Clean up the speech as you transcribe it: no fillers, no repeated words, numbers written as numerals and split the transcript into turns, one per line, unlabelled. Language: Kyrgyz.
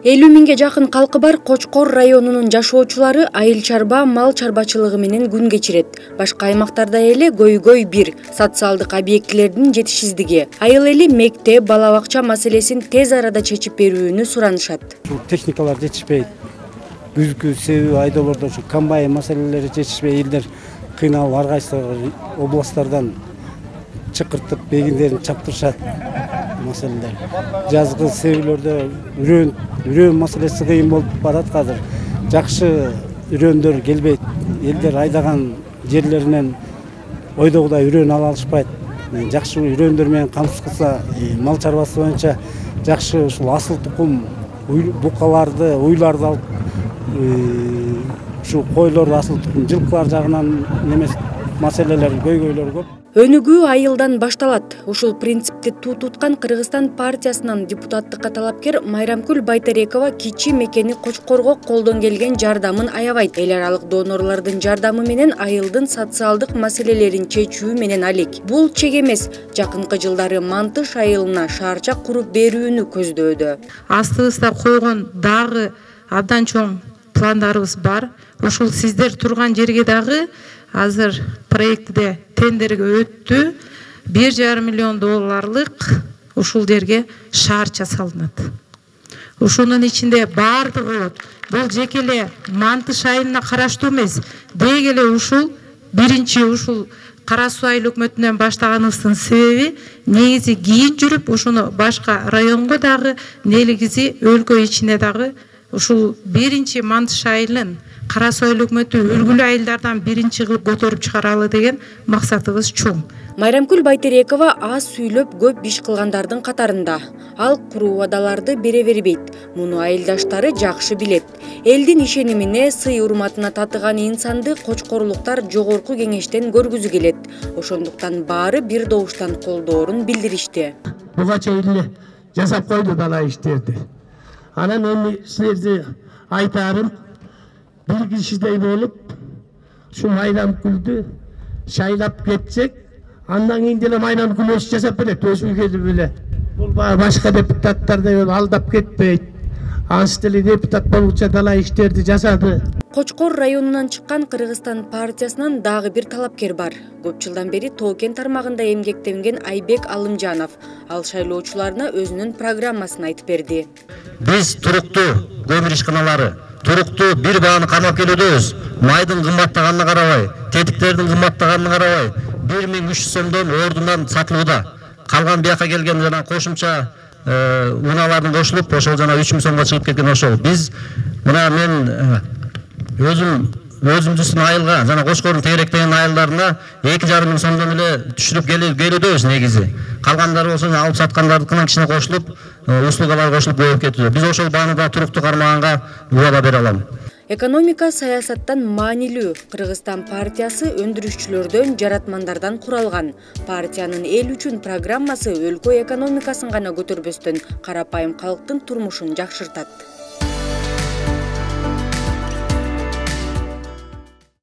50 миңге жакын калкы бар Кочкор районунун жашоочулары айыл чарба, мал чарбачылыгы менен күн кечирет. Башка аймактарда эле көйгөй бир социалдык объектилердин жетишсиздиги. Айыл эли мектеп, бала бакча маселесин тез арада чечип берүүнү суранышат.
Техникалар жетишпейт. Күзгү себеби айдоолордо ушу комбайн маселелери жетишпей, элдер кыйналып ар кайсы областтардан чакыртып бегиндерин чаптырышат. Маселелер. Жазгы себейлерде үрөн маселеси кыйын болуп барат азыр. Жакшы үрөндөр келбейт. Элдер айдаган жерлеринен ойдогудай үрөн ала алышпайт. Жакшы үрөндөр менен камсыз кылса, мал чарбасы боюнча жакшы ушул асыл тукум букаларды, уйларды алып, ушу койлор асыл тукум жылкылар жагынан немес маселелер, көйгөйлөр көп.
Өнүгүү айылдан башталат. Ушул принципти туткан Кыргызстан партиясынан депутаттыкка талапкер Майрамкүл Байтерекова кичи мекени Кочкорго колдон келген жардамын аябайт. Эл аралык донорлордун жардамы менен айылдын социалдык маселелерин чечүү менен алек. Бул чек эмес. Жакынкы жылдары Мантыш айылына шаарчак куруп берүүнү көздөдө.
Астыбызда койгон дагы абдан чоң пландарыбыз бар. Ушул сиздер турган жерге дагы азыр проектте тендерге өттү. 1,5 миллион долларлык ушул жерге шаарча салынат. Ушунун ичинде бардыгы болот. Бул жеке эле Мантыш айылына караштуу эмес. Деги эле ушул биринчи ушул Кара Суу айыл өкмөтүнөн баштаганыбыздын себеби негизи кийин жүрүп ушуну башка районго дагы, негизи өлкө ичине дагы ушул биринчи Мантыш айылын Кара Суу айыл өкмөтү үлгүлүү айылдардан биринчи кылып көтөрүп чыгаралы деген максатыбыз чоң.
Майрамкүл Байтерекова аз сүйлөп көп иш кылгандардын катарында. Ал куруу убадаларды бере бербейт. Муну айылдаштары жакшы билет. Элдин ишенимине, сый урматына татыган инсанды кочкорлуктар жогорку кеңештен көргүзү келет. Ошондуктан баары бир добуштан колдоорун билдиришти.
Буга чейин жасап койду бала иштерди. Анан эми силерди айтарым, бир кишидей болуп, ушу Майрамкүлдү шайлап кетсек, андан кийин деле Майрамкүл өз жасап берет, өзү келип эле. Бул башка депутаттардай алдап кетпейт. Ансы деле депутат болучу дала иштерди жасады.
Кочкор районунан чыккан Кыргызстан партиясынан дагы бир талапкер бар. Көп жылдан бери Тоо-Кен тармагында эмгектенген Айбек Алымжанов. Ал шайлоочуларына өзүнүн программасын айтып берди.
Биз туруктуу көмүр ишканалары, туруктуу бир бааны камап келебиз. Майдын кымбаттаганына карабай, тетиктердин кымбаттаганына карабай, 1300 сомдон ордунан сатылууда. Калган бияка келген жана кошумча унаалардын кошулуп, ошол жана 3000 сомго чыгып кеткен ошол. Биз мына мен өзүмүздүн айылга жана Кочкордун тегеректеген айылдарына 2,5 миң сомдон эле түшүрүп келебиз негизи. Калгандары болсо алып саткандардыкына кичине кошулуп, услугалар кошулуп көбөйүп кетти. Биз ошол баанында туруктуу кармаганга убада бере алам.
Экономика саясаттан маанилүү. Кыргызстан партиясы өндүрүшчүлөрдөн, жаратмандардан куралган. Партиянын эл үчүн программасы өлкө экономикасын гана көтөрбөстөн, карапайым калктын турмушун жакшыртат.